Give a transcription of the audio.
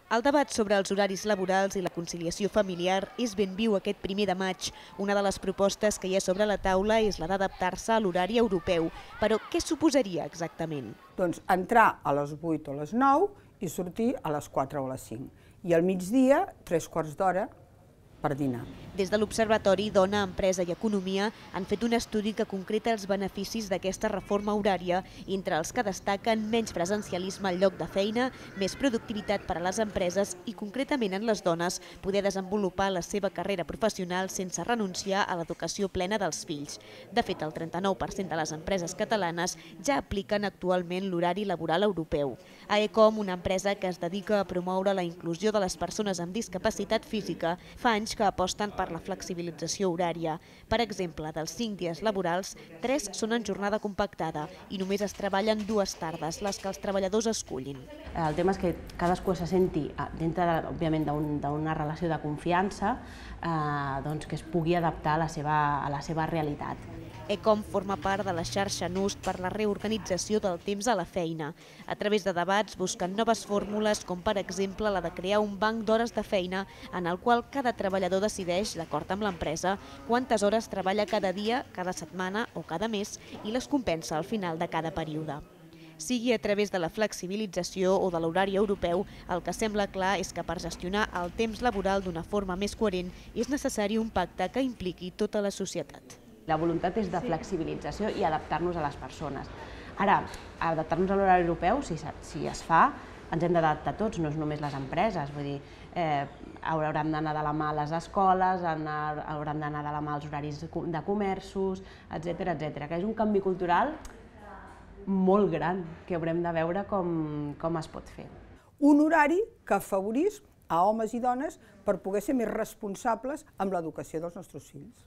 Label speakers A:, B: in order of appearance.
A: El debat sobre els horaris laborals i la conciliació familiar és ben viu aquest 1er de maig. Una de les propostes que hi ha sobre la taula és la d'adaptar-se a l'horari europeu. Però què suposaria exactament?
B: Doncs entrar a les 8 o les 9 i sortir a les 4 o les 5. I al migdia, 3/4 d'hora per dinar.
A: Des de l'Observatori Dona, Empresa i Economia han fet un estudi que concreta els beneficis d'aquesta reforma horària, entre els que destaquen menys presencialisme al lloc de feina, més productivitat per a les empreses i, concretament en les dones, poder desenvolupar la seva carrera professional sense renunciar a l'educació plena dels fills. De fet, el 39% de les empreses catalanes ja apliquen actualment l'horari laboral europeu. AECOM, una empresa que es dedica a promoure la inclusió de les persones amb discapacitat física, fa anys que aposten per la flexibilització horària. Per exemple, dels 5 dies laborals, 3 són en jornada compactada i només es treballen 2 tardes, les que els treballadors escullin.
C: El tema és que cadascú se senti dintre, òbviament, d'una relació de confiança, que es pugui adaptar a la seva realitat.
A: ECOM forma part de la xarxa NUST per la reorganització del temps a la feina. A través de debats busquen noves fórmules, com per exemple la de crear un banc d'hores de feina en el qual cada treballador decideix, d'acord amb l'empresa, quantes hores treballa cada dia, cada setmana o cada mes i les compensa al final de cada període. Sigui a través de la flexibilització o de l'horari europeu, el que sembla clar és que per gestionar el temps laboral d'una forma més coherent és necessari un pacte que impliqui tota la societat.
C: La voluntat és de flexibilització i adaptar-nos a les persones. Ara, adaptar-nos a l'horari europeu, si es fa, ens hem d'adaptar tots, no és només les empreses. Vull dir, hauran d'anar de la mà a les escoles, hauran d'anar de la mà als horaris de comerços, etcètera, que és un canvi cultural molt gran que haurem de veure com es pot fer.
B: Un horari que afavorís a homes i dones per poder ser més responsables amb l'educació dels nostres fills.